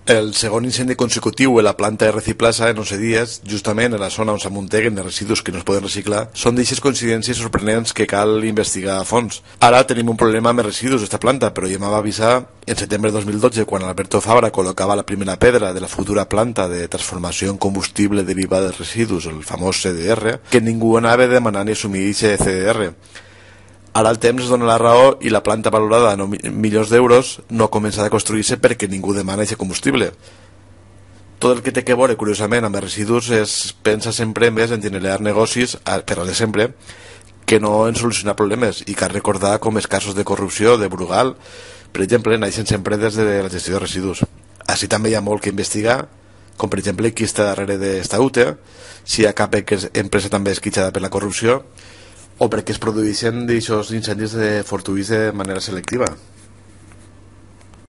El segon incendi consecutiu en la planta de Reciplasa en 11 dies, justament en la zona on s'amunteguen de residus que no es poden reciclar, són d'aixes coincidències sorprenents que cal investigar a fons. Ara tenim un problema amb els residus d'esta planta, però ja m'va avisar en setembre de 2012 quan Alberto Fabra col·locava la primera pedra de la futura planta de transformació en combustible derivat dels residus, el famós CDR, que ningú anava a demanar ni assumir aquest CDR. Ara el temps es dona la raó i la planta valorada a 9 milions d'euros no ha començat a construir-se perquè ningú demana aquest combustible. Tot el que té que veure, curiosament, amb els residus es pensa sempre més en generar negocis, però de sempre, que no en solucionar problemes, i cal recordar com els casos de corrupció de Brugal, per exemple, naixen sempre des de la gestió de residus. Així també hi ha molt que investigar, com per exemple qui està darrere d'esta UTE, si hi ha cap empresa també esquitxada per la corrupció, o perquè es produeixen d'aixòs incendis fortuïts de manera selectiva.